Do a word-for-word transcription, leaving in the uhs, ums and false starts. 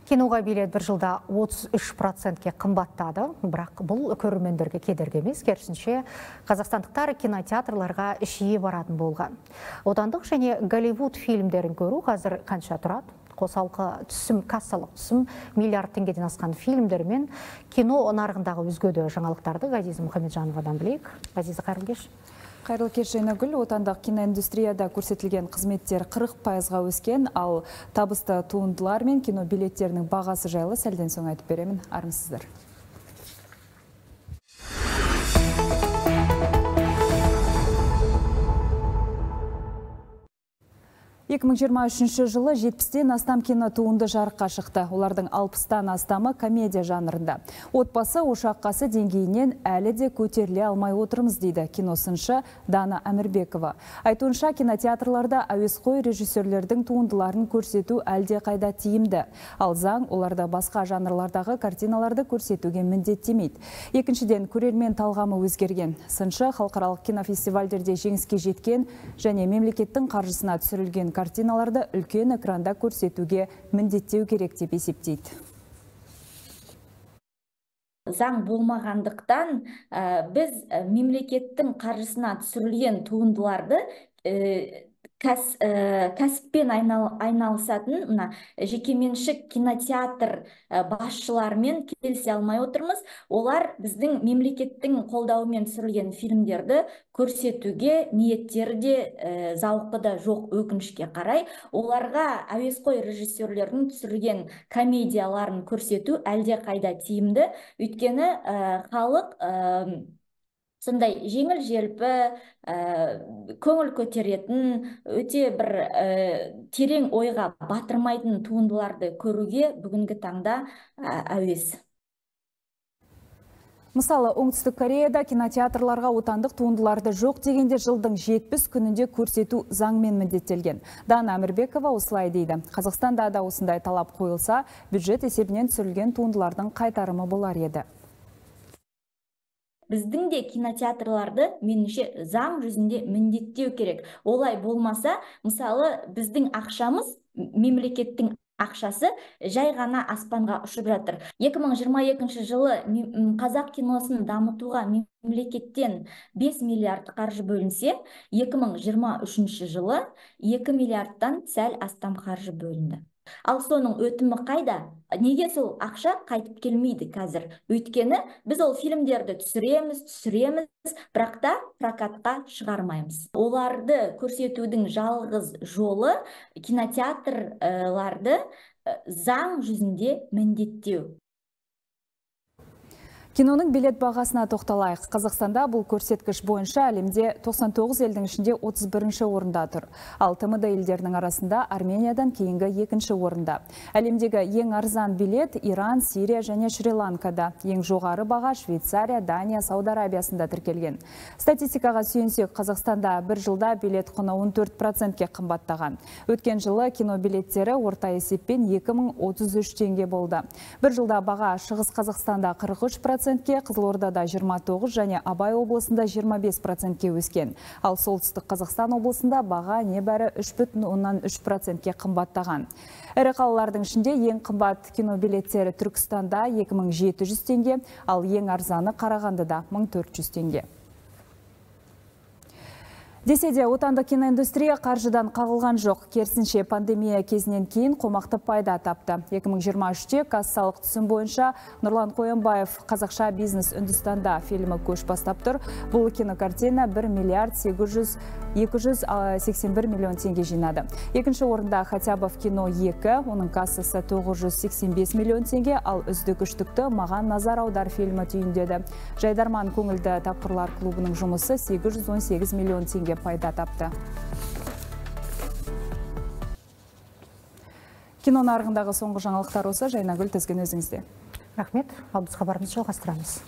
Киноға билет бір жылда отыз үш процентке қымбаттады, бірақ бұл көрермендерге кедергі емес, керісінше қазақстандықтар кинотеатрларға жиі баратын болған. Отандық және Голливуд фильмдерін көру қазір қанша тұрады? Қосалқы түсім, кассалық түсім миллиард теңгеден асқан фильмдер мен кино нарығындағы өзге де жаңалықтарды Ғазиза Мұхамеджановадан білейік. Ғазиза, қайырлы кеш. Қайырлы кеш, Жайнагүл. Отандық киноиндустрияда көрсетілген қызметтер қырық пайызға өскен, ал табысты туындылар мен кино билеттерінің бағасы жайлы сәлден соң айтып беремін. Армысыздар. екі мың жиырма үшінші жылы жетпістен астам кино туынды жарыққа шықты. Олардың алпыстан астамы комедия жанрында. Отбасы ошаққасы деңгейінен әлі де көтеріле алмай отырмыз дейді киносыншы Дана Әмірбекова. Айтуынша, кинотеатрларда әуесқой режиссерлердің туындыларын көрсету әлде қайда тиімді. Ал заң оларда басқа жанрлардағы картиналарды көрсетуге міндеттемейді. Екіншіден, көрермен талғамы өзгерген. Сыншы халықаралық кинофестивальдерде жеңіске жеткен және мемлекеттің қаржысына түсірілген картиналарды үлкен экранда көрсетуге міндеттеу керек деп есептейді. Заң болмағандықтан біз мемлекеттің қаржысына түсірілген туындыларды кәсіппен айналысатын жекеменшік кинотеатр басшыларымен келісе алмай отырмыз. Олар біздің мемлекеттің қолдауымен түсірілген фильмдерді көрсетуге ниеттері де зауқы да жоқ, өкінішке қарай. Оларға әуесқой режиссерлердің түсірілген комедияларын көрсету әлде қайда тиімді. Өйткені халық сондай жеңіл желпі, көңіл көтеретін, өте бір терең ойға батырмайтын туындыларды көруге бүгінгі таңда әуес. Мысалы, Оңтүстік Кореяда кинотеатрларға отандық туындыларды жоқ дегенде жылдың жетпіс күнінде көрсету заңмен міндеттелген. Дана Әмірбекова осылай дейді. Қазақстанда да осындай талап қойылса, бюджет есебінен түсірілген туындылардың қайтарымы болар еді. Біздің де кинотеатрларды меніңше заң жүзінде міндеттеу керек. Олай болмаса, мысалы, біздің ақшамыз, мемлекеттің ақшасы жай ғана аспанға ұшып жатыр. екі мың жиырма екінші жылы қазақ киносын дамытуға мемлекеттен бес миллиард қаржы бөлінсе, екі мың жиырма үшінші жылы екі миллиардтан сәл астам қаржы бөлінді. Ал соның өтімі қайда? Неге сол ақша қайтып келмейді қазір? Өйткені біз ол фильмдерді түсіреміз, түсіреміз, бірақ та прокатқа шығармаймыз. Оларды көрсетудің жалғыз жолы кинотеатрларды заң жүзінде міндеттеу. Киноның билет бағасына тоқталайық. Қазақстанда бұл көрсеткіш бойынша әлемде тоқсан тоғыз елдің ішінде отыз бірінші орында тұр. Ал Т М Д елдерінің арасында Армениядан кейінгі екінші орында. Әлемдегі ең арзан билет Иран, Сирия және Шри-Ланкада. Ең жоғары баға Швейцария, Дания, Сауд Арабиясында тіркелген. Статистикаға сүйенсек, Қазақстанда бір жылда билет құны он төрт процентке қымбаттаған. Өткен жылы кино билеттері орта есеппен екі мың отыз үш теңге болды. Бір жылда баға Шығыс Қазақстанда қырық үш процент, Қызылордада жиырма тоғыз және Абай облысында жиырма бес процентке өскен. Ал солтүстік Қазақстан облысында баға небәрі үш бүтін оннан үш процентке қымбаттаған. Ірі қалалардың ішінде ең қымбат кино билеттері Түркістанда екі мың жеті жүз теңге, ал ең арзаны Қарағандыда мың төрт жүз теңге. Десе де, отандық киноиндустрия қаржыдан қағылған жоқ. Керісінше пандемия кезінен кейін қомақты пайда тапты. екі мың жиырма үште кассалық түсім бойынша Нұрлан Қоянбаев «Қазақша бизнес Үндістанда» фильмі көш бастап тұр. Бұл кинокартина бір миллиард екі жүз сексен бір миллион теңге жинады. Екінші орында Хатябов кино екі, оның кассасы тоғыз жүз сексен бес миллион теңге, ал үздік үштікті Маған назар аудар фильмі түйіндеді. Жайдарман көңілді тапқырлар клубының жұмысы сегіз жүз он сегіз миллион теңге пайда тапты. Кино нарығындағы соңғы жаңалықтар осы. Жайнагүл, тізгін өзіңізде. Рахмет, ал біз хабарымызды жалғастырамыз.